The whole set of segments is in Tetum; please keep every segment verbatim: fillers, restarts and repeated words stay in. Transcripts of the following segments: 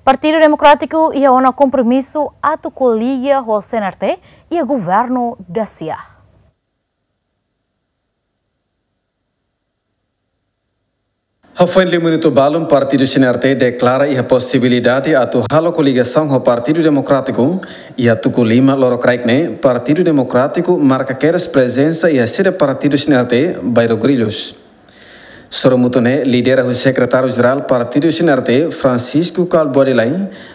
Partidu Demokrátiku iha ona kompromisu atu koalia ho C N R T iha governu dasia. Hafoin lima minutu balun, Partidu C N R T deklara iha posibilidade atu halo koligasaun ho Partidu Demokrátiku. Iha tuku lima lorokraik ne'e, Partidu Demokrátiku marka kedas prezensa iha sede partidu C N R T, Bairro Grillos. Sorumutu ne'e lidera husi Sekretáriu Jerál Partidu C N R T, Francisco Kalbuadi Lay,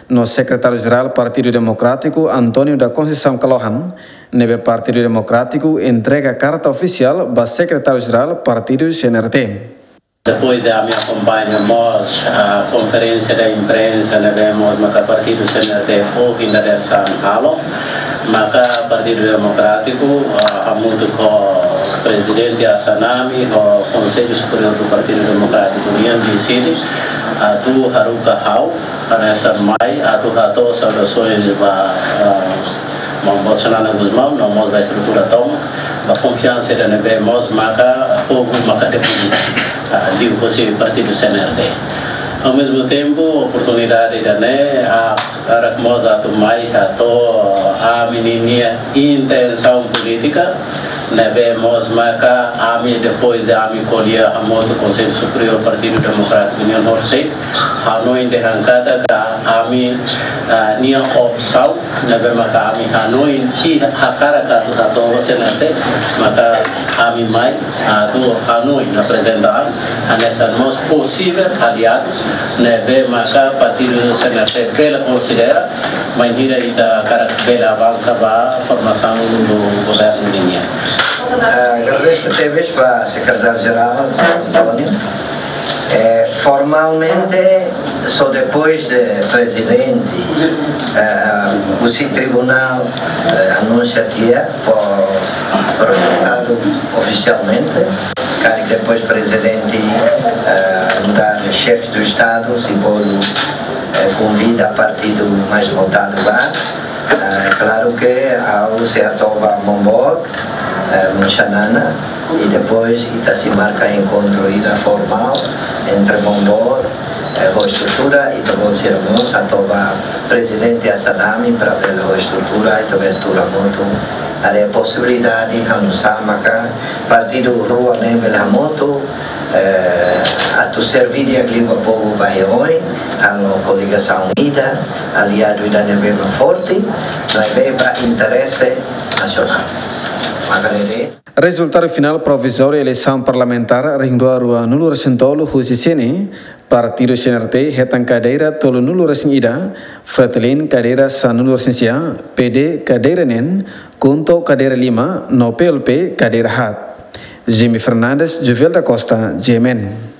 no Sekretáriu Jerál Partidu Demokrátiku, António da Conceição Kalohan, ne'ebé Partidu Demokrátiku entrega karta ofisiál ba Sekretáriu Jerál Partidu C N R T. Depois de ami akompaña mós, ah, konferénsia da imprensa ne'ebé mós maka Partidu C N R T ohin dadeer-saan halo, maka Partidu Demokrátiku, ah, hamutuk ho Prezidente Assanami, ho Konsellu Superiór do Partidu Demokrátiku nian deside atu haruka ha'u hanesan mai atu hato'o saudasoens ba, ah, Maun Boot Xanana Gusmão, no mós ba estrutura tomak, ba konfiansa ida ne'ebé mós maka povu maka depende, ah, liuhusi Partidu C N R T. Ao mesmo tempo, oportunidade ida-ne'e, ah, hakarak mós atu mai hato'o ami-nia intensaun polítika, ne'ebé mós maka ami, depois de ami ko'alia hamutuk Konsellu Superiór Partidu Demokrátiku nian horisehik, hanoin dehan katak ami, ah, nia opsaun ne'ebé maka ami hanoin i hakarak atu hato'o C N R T, maka ami mai atu hanoin aprezenta an hanesan mós posivel aliadu ne'ebé maka Partidu C N R T bele konsidera, bainhira ita hakarak bele avansa ba formasaun do governu nian. Eh, agradeço tebes ba Sekretáriu Jerál António. Eh, formalmente, só depois de Prezidente, eh, husi Tribunál, eh, anunsia tiha, fó rezultadu ofisialmente, karik depois Prezidente, eh, nu'udar Xefe do Estadu, sei bolu, eh, konvida partidu mais votadu ba. Eh, klaru ke ha'u sei hato'o ba Maun Boot, eh, Xanana, i depois ita sei marka enkontru ida formál entre Maun Boot, eh, ho estrutura, i ita-boot sira mós hato'o ba Prezidente Assanami para bele ho estrutura, ita bele tuur hamutuk. Haree posibilidade, ha'u nusá maka partidu rua ne'e bele hamutuk, eh, atu serví di'ak liu ba povu ba oin, halo koligasaun ida, aliadu ida ne'ebé mak forte, ne'ebé ba interese nasionál. Maka ne'e de'it. Rezultadu finál provizóriu eleisaun parlamentár rihun rua ruanulu-resin-tolu husi C N E, Partidu C N R T hetan kadeira tolunulu-resin-ida, Fretilin kadeira sanulu-resin-sia, P D kadeira neen, KHUNTO kadeira lima, no P L P kadeira haat. Jimmy Fernandes, Jovel da Costa, G M N.